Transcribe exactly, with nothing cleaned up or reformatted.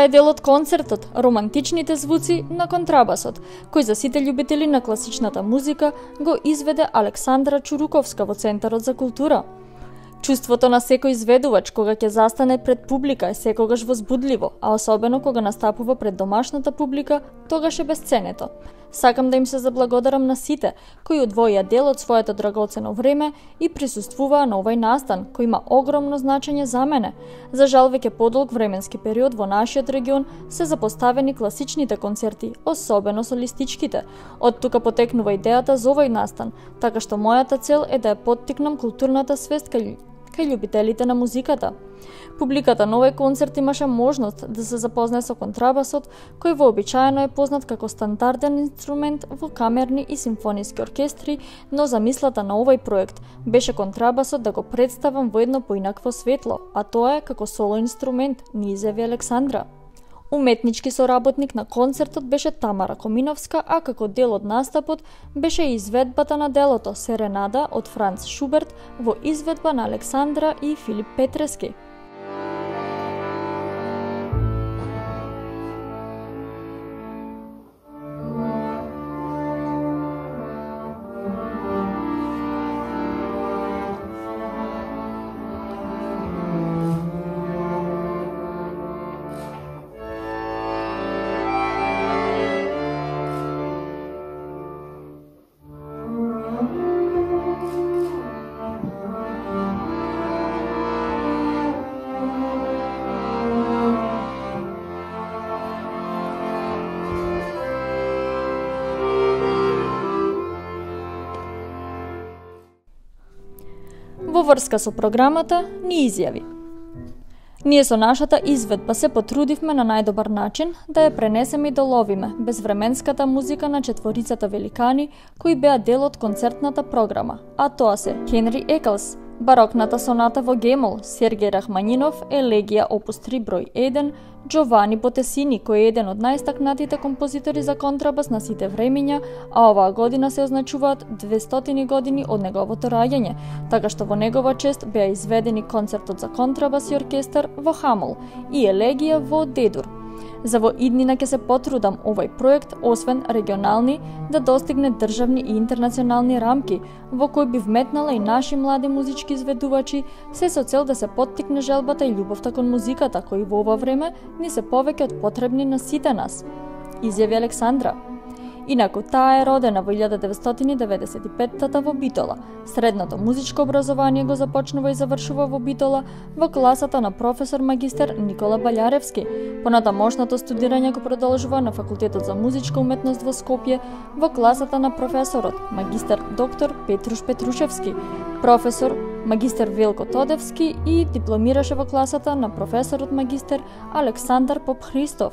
Тоа е дел од концертот "Романтичните звуци на контрабасот", кој за сите љубители на класичната музика го изведе Александра Чуруковска во Центарот за култура. Чувството на секој изведувач кога ќе застане пред публика е секогаш возбудливо, а особено кога настапува пред домашната публика, тогаш е бесценето. Сакам да им се заблагодарам на сите кои одвоија дел од своето драгоцено време и присуствуваа на овој настан, кој има огромно значење за мене. За жал, веќе подолг временски период во нашиот регион се запоставени класичните концерти, особено солистичките. Од тука потекнува идејата за овој настан, така што мојата цел е да ја поттикнам културната свест кај кај љубителите на музиката. Публиката на овој концерт имаше можност да се запознае со контрабасот, кој вообичаено е познат како стандарден инструмент во камерни и симфониски оркестри, но замислата на овој проект беше контрабасот да го представам во едно поинакво светло, а тоа е како соло инструмент, ни изјави Александра. Уметнички соработник на концертот беше Тамара Коминовска, а како дел од настапот беше и изведбата на делото Серенада од Франц Шуберт во изведба на Александра и Филип Петрески. Во врска со програмата ни изјави: "Ние со нашата изведба се потрудивме на најдобар начин да ја пренесеме и доловиме безвременската музика на четворицата великани кои беа дел од концертната програма, а тоа се Хенри Екелс, барокната соната во гемол, Сергеј Рахманинов, елегија опус три број еден, Джовани Ботесини, кој е еден од најстакнатите композитори за контрабас на сите времиња, а оваа година се означуваат двестотини години од неговото раѓање, така што во негова чест беа изведени концертот за контрабас и оркестар во Хамол и елегија во Дедур. За во иднина ќе се потрудам овој проект, освен регионални, да достигне државни и интернационални рамки, во кој би вметнала и наши млади музички изведувачи, се со цел да се поттикне желбата и љубовта кон музиката, кои во ова време ни се повеќе од потребни на сите нас", изјави Александра. Инаку таа е родена во илјада деветстотини деветдесет и петта во Битола. Средното музичко образование го започнува и завршува во Битола во класата на професор магистер Никола Балјаревски. Понатамошното студирање го продолжува на Факултетот за музичка уметност во Скопје во класата на професорот магистер доктор Петруш Петрушевски, професор магистер Велко Тодевски и дипломираше во класата на професорот магистер Александар Поп Христов.